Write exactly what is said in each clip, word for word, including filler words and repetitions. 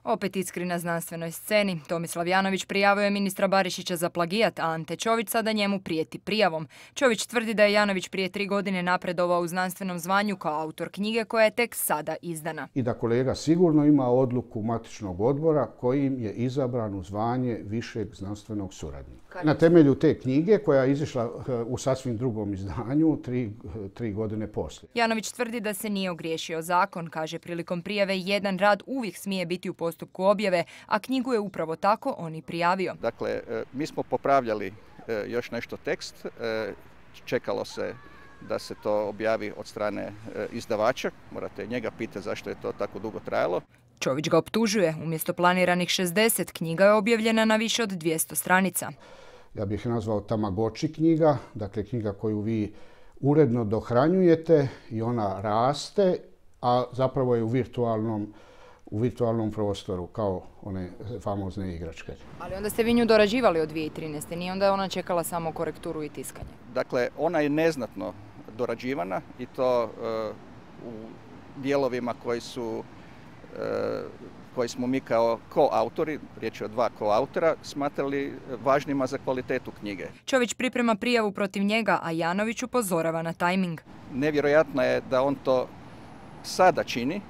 Opet iskri na znanstvenoj sceni. Tomislav Janović prijavio je ministra Barišića za plagijat, a Ante Čović sada njemu prijeti prijavom. Čović tvrdi da je Janović prije tri godine napredovao u znanstvenom zvanju kao autor knjige koja je tek sada izdana. I da kolega sigurno ima odluku matičnog odbora kojim je izabran u zvanje višeg znanstvenog suradnika. Na temelju te knjige koja je izišla u sasvim drugom izdanju tri, tri godine poslije. Janović tvrdi da se nije ogriješio zakon, kaže prilikom prijave jedan rad uvijek smije biti u postupku objave, a knjigu je upravo tako on i prijavio. Dakle, mi smo popravljali još nešto tekst, čekalo se da se to objavi od strane izdavača, morate njega pitati zašto je to tako dugo trajalo. Čović ga optužuje, umjesto planiranih šezdeset knjiga je objavljena na više od dvjesto stranica. Ja bih nazvao Tamagotchi knjiga, dakle knjiga koju vi uredno dohranjujete i ona raste, a zapravo je u virtualnom, u virtualnom prostoru, kao one famozne igračke. Ali onda ste vi nju dorađivali od dvije tisuće trinaeste. Nije onda ona čekala samo korekturu i tiskanje? Dakle, ona je neznatno dorađivana i to uh, u dijelovima koji su uh, koji smo mi kao koautori, riječ je o dva koautora, smatrali važnima za kvalitetu knjige. Čović priprema prijavu protiv njega, a Janović upozorava na tajming. Nevjerojatno je da on to sada čini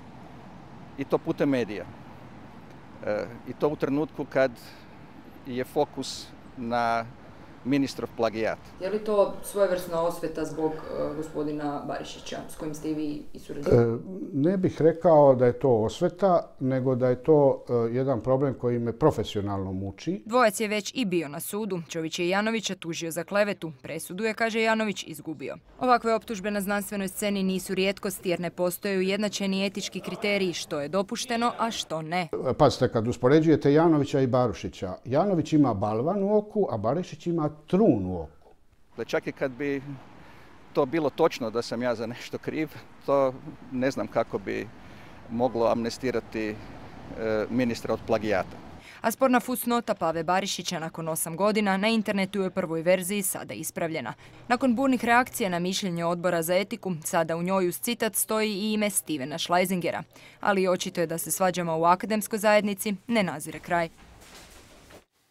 i to putem medija. E, I to u trenutku kad je fokus na ministrov plagijat. Je li to svojevrsna osveta zbog uh, gospodina Barišića, s kojim ste i vi i surađivali? E, ne bih rekao da je to osveta, nego da je to uh, jedan problem koji me profesionalno muči. Dvojac je već i bio na sudu. Čović je Janovića tužio za klevetu. Presudu je, kaže Janović, izgubio. Ovakve optužbe na znanstvenoj sceni nisu rijetkost jer ne postoje ujednačeni etički kriteriji što je dopušteno, a što ne. Pazite, kad uspoređujete Janovića i Barušića, Janović ima balvan u oku, a Barišić ima trun u oku. Čak i kad bi to bilo točno da sam ja za nešto kriv, to ne znam kako bi moglo amnestirati ministra od plagijata. A sporna fusnota Pave Barišića nakon osam godina na internetu je u prvoj verziji sada ispravljena. Nakon burnih reakcija na mišljenje odbora za etiku, sada u njoj uz citat stoji i ime Stevena Schleisingera. Ali očito je da se svađama u akademskoj zajednici ne nazire kraj.